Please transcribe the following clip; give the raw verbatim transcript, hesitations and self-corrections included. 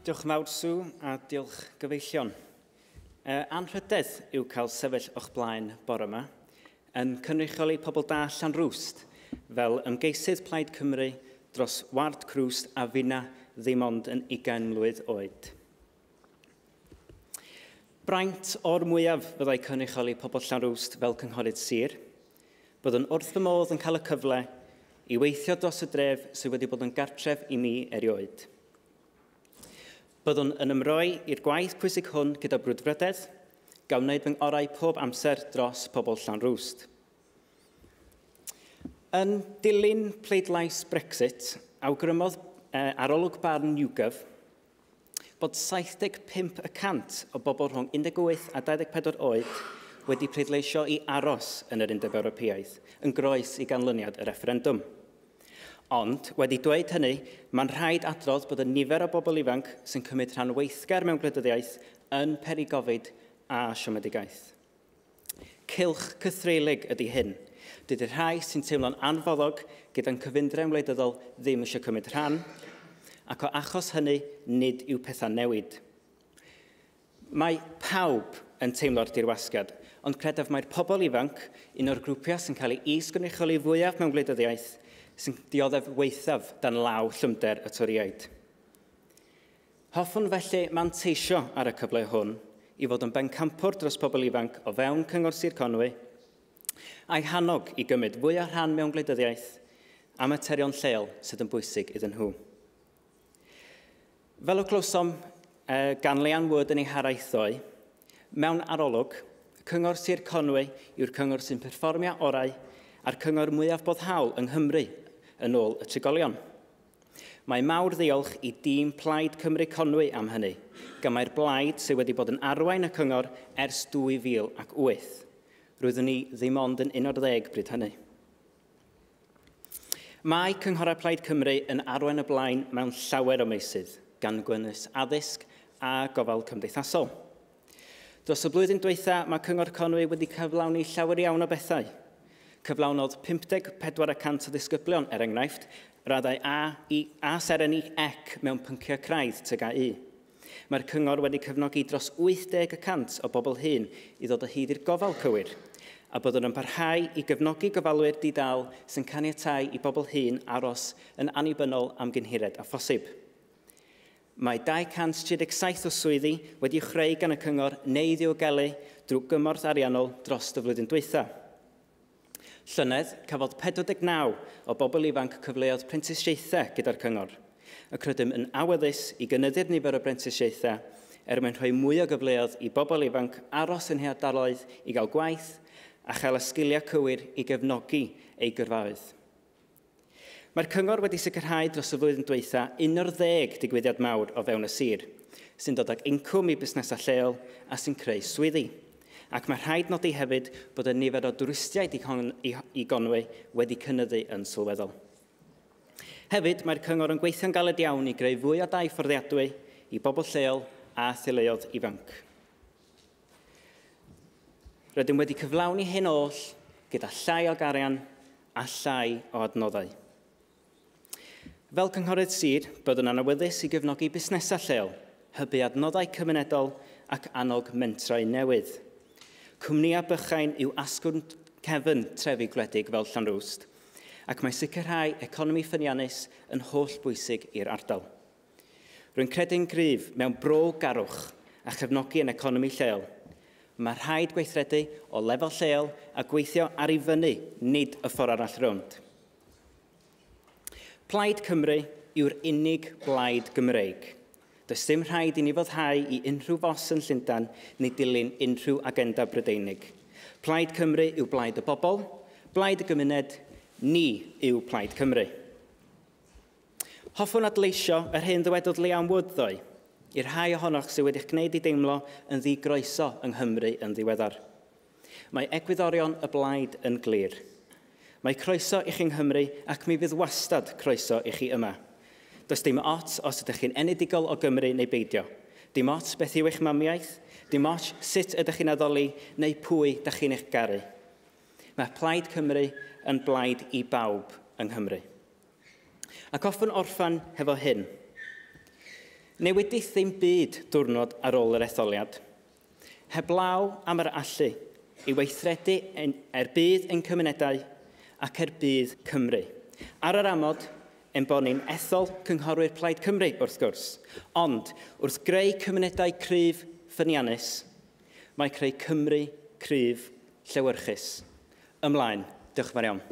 Diolch yn fawr, Sue, a diolch gyfeillion. Uh, anrhydedd yw cael sefyll o'ch blaen bore yma yn cynrychioli pobl da Llanrwst fel ymgeisydd Plaid Cymru dros Ward Crwst a finna ddim ond yn ugain mlwydd oed. Braint o'r mwyaf fyddai cynrychioli pobl Llanrwst fel cynghorydd sir. Byddwn wrth fy modd yn cael y cyfle i weithio dros y dref sydd wedi bod yn gartref i mi erioed. Byddwn yn ymroi i'r gwaith pwysig hwn gyda brwdfrydedd, gan wneud fy ngorau pob amser dros pobl Llanrwst. Yn dilyn pleidlais Brexit, awgrymodd eh, arolwg barn YouGov bod saith deg pump y cant o bobl rhwng un deg wyth a dau ddeg pedwar oed wedi pleidleisio i aros yn yr Undeb Ewropeaidd, yn groes i ganlyniad y refferendwm. Ond, wedi dweud hynny, mae'n rhaid adrodd bod y nifer o bobl ifanc sy'n cymryd rhan weithgar mewn gwleidyddiaeth yn peri gofid a siomedigaeth. Cylch cythreulig ydy hyn. Dydy'r rhai sy'n teimlo'n anfoddog gyda'n cyfundrefn wleidyddol ddim eisiau cymryd rhan, ac o achos hynny, nid yw pethau newid. Mae pawb yn teimlo'r dirwasgiad, ond credaf mai'r pobl ifanc, un o'r grwpiau sy'n cael ei is-gynrychioli fwyaf mewn gwleidyddiaeth, sy'n dioddef weithaf dan law llymder y Torïaid. Hoffwn felly manteisio ar y cyfle hwn i fod yn bencampwr dros pobl ifanc o fewn Cyngor Sir Conwy, a'i hannog i gymryd fwy o rhan mewn gwleidyddiaeth a materion lleol sydd yn bwysig iddyn nhw. Fel y clywsom eh, gan Leanne Wood yn ei haraith ddoe, mewn arolwg, Cyngor Sir Conwy yw'r cyngor sy'n perfformio orau a'r cyngor mwyaf boddhaol yng Nghymru yn ôl y trigolion. Mae mawr ddiolch i dîm Plaid Cymru Conwy am hynny, gan mai'r blaid sydd wedi bod yn arwain y cyngor ers dwy fil ac wyth. Roeddwn ni ddim ond yn un o'r ddeg bryd hynny. Mae Cynghorau Plaid Cymru yn arwain y blaen mewn llawer o meysydd, gan gynnwys addysg a gofal cymdeithasol. Dros y blwyddyn dwytha, mae Cyngor Conwy wedi cyflawni llawer iawn o bethau. Cyflawnodd pump deg pedwar y cant o ddisgyblion, er enghraifft, raddau A i A seren i C mewn pynciau craidd T G A U. Mae'r cyngor wedi cefnogi dros wyth deg y cant o bobl hŷn i ddod o hyd i'r gofal cywir, a byddwn yn parhau i gefnogi gofalwyr di-dal sy'n caniatáu i bobl hŷn aros yn annibynnol am gyn hired a phosib. Mae dau cant tri deg saith o swyddi wedi'u chreu gan y cyngor neu ddiogelu drwy gymorth ariannol dros y flwyddyn dwytha. Llynedd, cafodd pedwar deg naw o bobl ifanc cyfleoedd prentisiaethau gyda'r cyngor, ac rydym yn awyddus i gynyddu'r nifer o brentisiaethau er mwyn rhoi mwy o gyfleoedd i bobl ifanc aros yn eu hardaloedd i gael gwaith a chael y sgiliau cywir i gefnogi eu gyrfaoedd. Mae'r cyngor wedi sicrhau dros y flwyddyn dwytha un o'r ddeg digwyddiad mawr o fewn y sir, sy'n dod ag incwm i busnesau lleol a sy'n creu swyddi. Ac mae rhaid nodi hefyd bod y nifer o dwristiaid i Gonwy wedi cynyddu yn sylweddol. Hefyd, mae'r cyngor yn gweithio'n galed iawn i greu fwy o dai fforddiadwy i bobl lleol a theuluoedd ifanc. Rydym wedi cyflawni hyn oll gyda llai o garian a llai o adnoddau. Fel cynghorydd sir, byddwn yn awyddus i gefnogi busnesau lleol, hybu adnoddau cymunedol ac annog mentrau newydd. Cwmnïau bychain yw asgwrn cefn trefi gwledig fel Llanrwst, ac mae sicrhau economi ffyniannus yn holl bwysig i'r ardal. Rwy'n credu'n gryf mewn bro-garwch a chefnogi yn economi lleol. Mae rhaid gweithredu o lefel lleol a gweithio ar i fyny, nid y ffordd arall rownd. Plaid Cymru yw'r unig blaid Gymreig. Does dim rhaid i ni foddhau i unrhyw fos yn Llundain neu dilyn unrhyw agenda Brydeinig. Plaid Cymru yw blaid y bobl, blaid y gymuned, ni yw Plaid Cymru. Hoffwn adleisio yr hyn ddywedodd Leanne Wood ddoe, i'r rhai ohonoch sydd wedi'ch gwneud i deimlo yn ddigroeso yng Nghymru yn ddiweddar. Mae egwyddorion y blaid yn glir. Mae croeso i chi yng Nghymru ac mi fydd wastad croeso i chi yma. Does dim ots os ydych chi'n enedigol o Gymru neu beidio. Dim ots beth yw eich mamiaith, dim ots sut ydych chi'n addoli neu pwy ydych chi'n eich garu. Mae Plaid Cymru yn blaid i bawb yng Nghymru. Ac hoffwn orffan hefo hyn. Newidith ddim byd diwrnod ar ôl yr etholiad. Heblaw am yr allu i weithredu er budd ein cymunedau ac er budd Cymru. Ar yr amod, ein bod ni'n ethol cynghorwyr Plaid Cymru, wrth gwrs. Ond, wrth greu cymunedau cryf ffyniannus, mae creu Cymru cryf llewyrchus. Ymlaen. Diolch yn fawr iawn.